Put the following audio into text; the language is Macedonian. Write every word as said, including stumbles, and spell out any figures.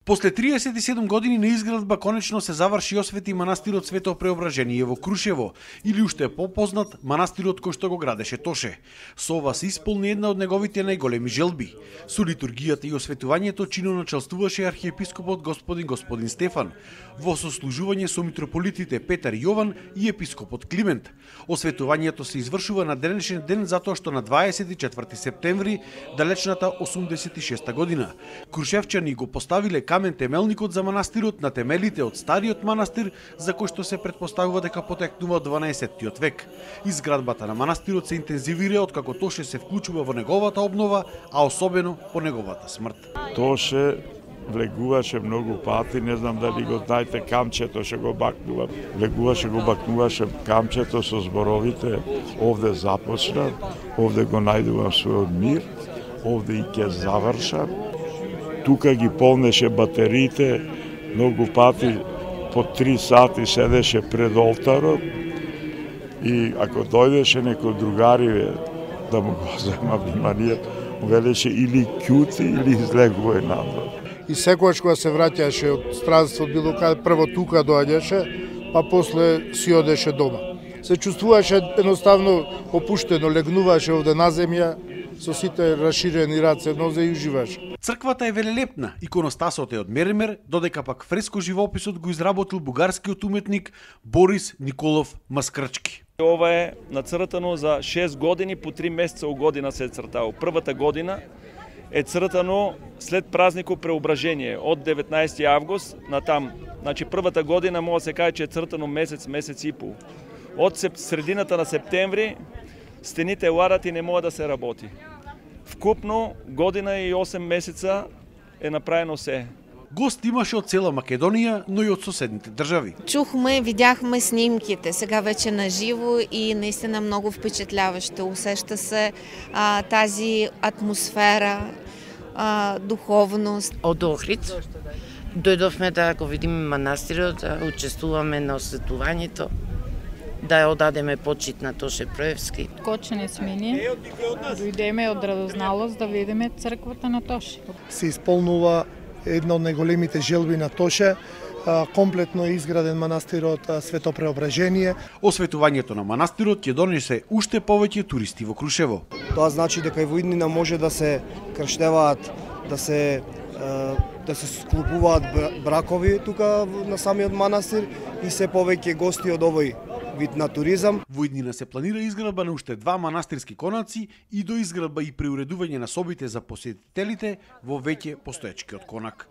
После триесет и седум години на изградба конечно се заврши и освети манастирот Свето Преображение во Крушево, или уште попознат манастирот кој што го градеше Тоше. Со ова се исполни една од неговите најголеми желби. Со литургијата и осветувањето чиноначалствуваше архиепископот господин господин Стефан, во сослужување со митрополитите Петар и Јован и епископот Климент. Осветувањето се извршува на денешен ден затоа што на дваесет и четврти септември далечната осумдесет и шеста година крушевчани го поставиле камен темелникот за манастирот на темелите од стариот манастир за кој што се претпоставува дека потекнува од дванаесеттиот век. Изградбата на манастирот се интензивира откако Тоше се вклучува во неговата обнова, а особено по неговата смрт. Тоше влегуваше многу пати, не знам дали го знаете, камчето што го бакнува. Влегуваше, го бакнуваше камчето со зборовите: овде започна, овде го најдувам својот мир, овде и ќе завршам. Тука ги полнеше батериите, многу пати по три сати седеше пред олтарот и ако дојдеше некој другари да му го зема вниманието, велеше или кјути или излегувај надвор. И секогаш кога се враќаше од странство било каде, прво тука доаѓаше, па после си одеше дома. Се чувствуваше едноставно опуштено, легнуваше овде на земја со сите расширени раце нозе и уживаше. Црквата е велелепна, иконостасот е од меремер, додека пак фреско живописот го изработил бугарскиот уметник Борис Николов Маскрчки. Ова е нацртано за шест години, по три месеца у година се е цртало. Првата година е цртано след празникот Преображение, од деветнаесети август на там. Значи првата година може да се каже че е цртано месец, месец и пол. Од средината на септември стените ладат и не може да се работи. Вкупно година и осем месеца е направено се. Гост имаше од цела Македонија, но и од соседните држави. Чухме, видяхме снимките, сега вече на живо и наистина много впечатляващо. Усеща се а, тази атмосфера, а, духовност. Од Охрид дојдовме да го видиме манастирот, да учествуваме на осветувањето, да ја одадеме почит на Тоше Проевски. Кочене сме ние, дојдеме од радозналост да видиме црквата на Тоше. Се исполнува една од најголемите желби на Тоше, комплетно е изграден манастирот Свето Преображение. Осветувањето на манастирот ќе донесе уште повеќе туристи во Крушево. Тоа значи дека и во иднина може да се крштеваат, да се да се склопуваат бракови тука на самиот манастир и се повеќе гости од овој вид на туризам. Во иднина се планира изградба на уште два манастирски конаци и доизградба и преуредување на собите за посетителите во веќе постоечкиот конак.